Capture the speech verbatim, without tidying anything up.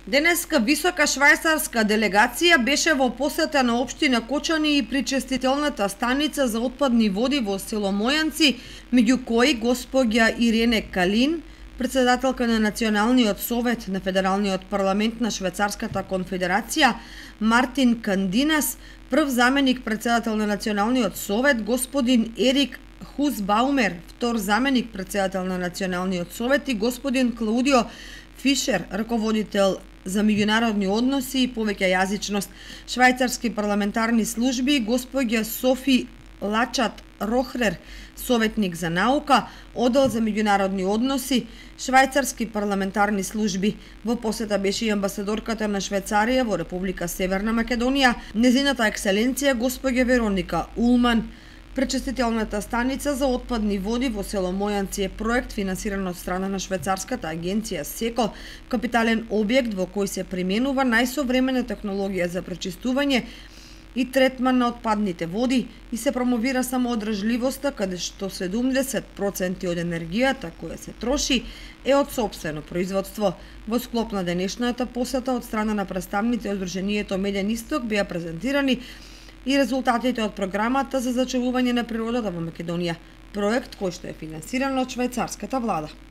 Денеска висока швајцарска делегација беше во посета на општина Кочани и причестителната станица за отпадни води во село Мојанци, меѓу кои госпоѓа Ирене Калин, председателка на Националниот совет на Федералниот парламент на Швајцарската конфедерација, Мартин Кандинас, прв заменик председател на Националниот совет, господин Ерик Хусбаумер, втор заменик председател на Националниот совет и господин Клаудио Фишер, раководител за меѓународни односи и повеќе јазичност, швајцарски парламентарни служби, госпоѓа Софи Лачат Рохрер, советник за наука, оддел за меѓународни односи, швајцарски парламентарни служби. Во посета беше и амбасадорката на Швајцарија во Република Северна Македонија, незината екселенција госпоѓа Вероника Улман. Пречестителната станица за отпадни води во село Мојанци е проект финансиран од страна на швајцарската агенција СЕКО, капитален објект во кој се применува најсовремена технологија за пречистување и третман на отпадните води и се промовира самоодржливоста, каде што седумдесет проценти од енергијата која се троши е од сопствено производство. Во склоп на денешната посета од страна на представници од Здруженијето Меден Исток беа презентирани и резултатите од програмата за зачувување на природата во Македонија, проект кој што е финансиран од швајцарската влада.